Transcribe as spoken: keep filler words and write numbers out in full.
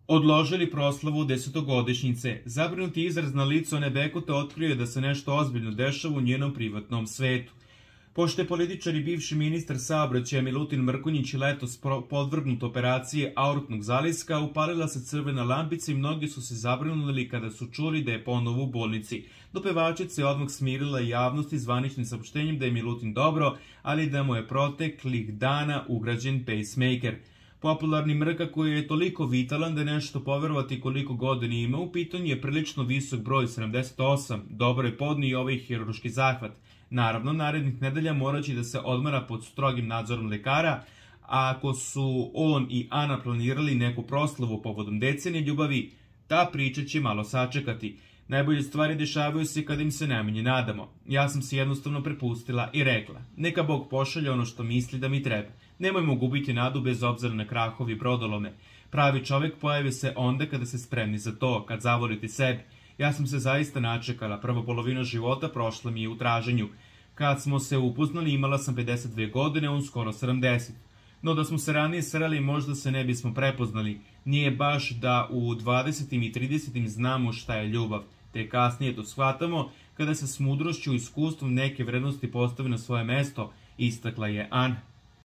Odložili proslavu desetogodišnjice. Zabrinuti izraz na licu Ane Bekute otkrio je da se nešto ozbiljno dešava u njenom privatnom svetu. Pošto je političar i bivši ministar saobraćaja Milutin Mrkonjić letos podvrgnut operaciji aortnog zaliska, upalila se crvena lampica i mnogi su se zabrinuli kada su čuli da je ponovo u bolnici. Do pevačice je odmah smirila javnost zvaničnim saopštenjem da je Milutin dobro, ali da mu je proteklih dana ugrađen pacemaker. Popularni Mrka koji je toliko vitalan da je nešto poverovati koliko godina ima, u pitanju je prilično visok broj sedamdeset osam, dobro je podnio i ovaj hirurški zahvat. Naravno, narednih nedelja moraće da se odmara pod strogim nadzorom lekara, a ako su on i Ana planirali neku proslavu povodom decenije ljubavi, ta priča će malo sačekati. Najbolje stvari dešavaju se kada im se najmanje nadamo. Ja sam se jednostavno prepustila i rekla, neka Bog pošalje ono što misli da mi treba. Nemojmo gubiti nadu bez obzira na krahovi brodolome. Pravi čovek pojavi se onda kada se spremni za to, kad zavolite sebe. Ja sam se zaista načekala, prva polovina života prošla mi je u traženju. Kad smo se upoznali imala sam pedeset dve godine, on skoro sedamdeset. No da smo se ranije sreli možda se ne bismo prepoznali. Nije baš da u dvadesetim i tridesetim znamo šta je ljubav, te kasnije to shvatamo kada se s mudrošću i iskustvom neke vrednosti postavi na svoje mesto, istakla je Ana.